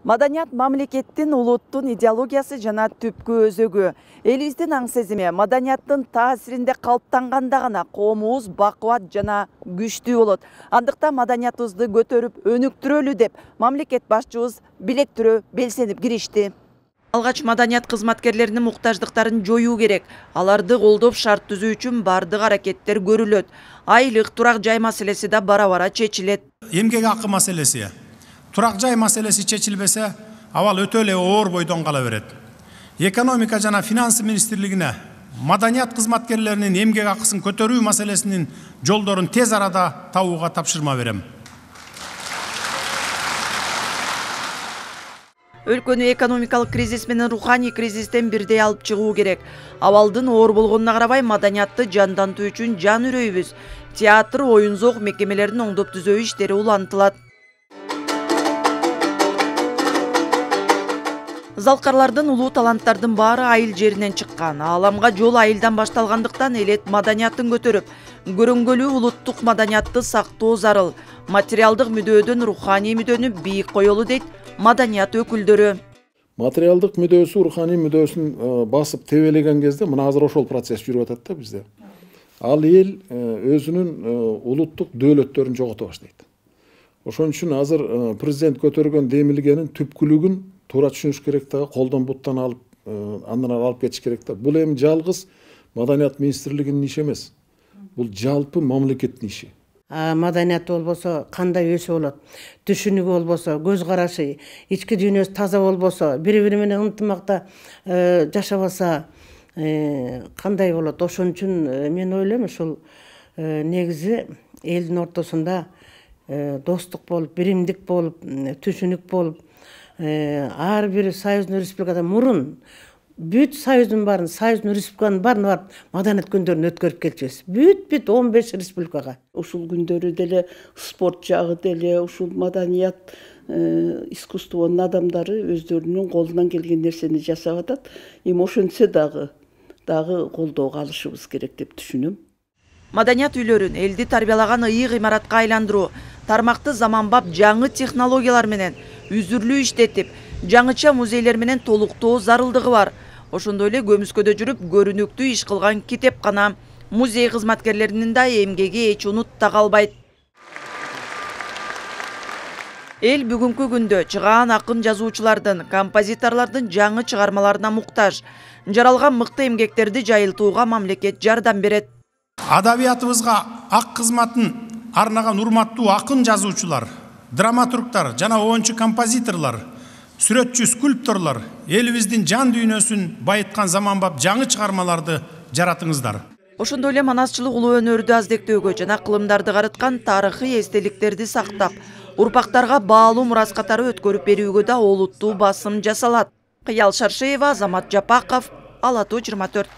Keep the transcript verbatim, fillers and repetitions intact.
Маданият мамлекеттин, улуттун идеологиясы жана түпкү өзөгү. Элибиздин аң сезими маданияттын таасиринде калыптанганда гана коомубуз бакубат жана күчтүү болот. Андыктан маданиятыбызды көтөрүп, өнүктүрөлү деп мамлекет башчыбыз билектирөө белсенип киришти. Алгач маданият кызматкерлеринин муктаждыктарын жоюу керек. Аларды колдоп шарт түзүү үчүн бардык аракеттер көрүлөт. Айлык, турак жай маселеси да бара-бара чечилет. Эмгек акы маселеси, турак жай маселеси чечилбесе, абал өтө эле оор бойдон кала берет. Экономика жана финансы министрлигине маданият кызматкерлеринин эмгек акысын көтөрүү маселесинин жолдорун тез арада табууга тапшырма берем. Өлкөнү экономикалык кризис менен руханий кризистен бирдей алып чыгуу керек. Абалдын оор болгонуна карабай маданиятты жандантуу үчүн жан үрөйбүз. Театр, оюн-зоок мекемелерин оңдоп түзөө иштери улантылат. Залкарлардын, улуу таланттардын баары айыл жеринен чыккан. Ааламга жол айылдан башталгандыктан элет маданияттын көтөрүп, көрөнгөлүү улуттук маданиятты сактоо зарыл. Материалдык мүдөөдөн руханий мүдөнү бийик коелу дейт маданият өкүлдөрү. Материалдык мүдөөсү руханий мүдөөсүн басып тебелеген кезде мына азыр ошол процесс жүрүп атат да бизде. Ал эл өзүнүн улуттук дөөлөттөрүн жогото баштайт. Ошон үчүн азыр президент көтөргөн демилгенин түпкүлүгүн туура түшүнүш керек да, колдон буттан алып, андан алып кетиш керек да. Бул эми жалгыз маданият министрлигинин иши эмес. Бул жалпы мамлекеттин иши. Маданият болбосо кандай өсө болот, түшүнүгү болбосо, көз карашы, ички дүйнөсү таза болбосо, бири-бири менен ынтымакта жашабаса кандай болот? Ошон үчүн мен ойлойм, ушул негизи элдин ортосунда достук болуп, биримдик болуп, түшүнүк болуп, ар бир союздун республикада мурун бүт союздун баарын, союздун республиканын баарын барып маданият күндөрүн өткөрүп келчүбүз. Бүт-бүт он беш республикага. Ушул күндөрү деле спорт жагы деле, ушул маданият искусствонун адамдары өздөрүнүн колунан келген нерсени жасап атат. Эми ошентсе дагы дагы колдоого алышыбыз керек деп түшүнөм. Маданият үйлөрүн элди тарбиялаган ыйык имаратка айландыруу, тармакты заманбап жаңы технологиялар менен үзүрлүү иштетип, жаңыча музейлер менен толуктоо зарылдыгы бар. Ошондой эле көмүскөдө жүрүп көрүнүктүү иш кылган китепкана, музей кызматкерлеринин да эмгеги эч унутта калбайт. Эл бүгүнкү күндө чыгаан акын жазуучулардын, композиторлордун жаңы чыгармаларына муктаж. Жаралган мыкты эмгектерди жайылтууга мамлекет жардам берет. Адабиятыбызга ак кызматын арнаган урматтуу акын жазуучулар, драматургтар жана оончу композиторлор, сүрөтчү скульпторлор элибиздин жан дүйнөсүн байыткан заманбап жаңы чыгармаларды жаратыңыздар. Ошондой эле манасчылык улуу өнөрдү аздектөөгө жана кылымдарды карыткан тарыхый эстеликтерди сактап, урпактарга баалуу мурас катары өткөрүп берүүгө да олуттуу басым жасалат. Кыял Шаршеева, Азамат Жапаков, Ала тоо жыйырма төрт.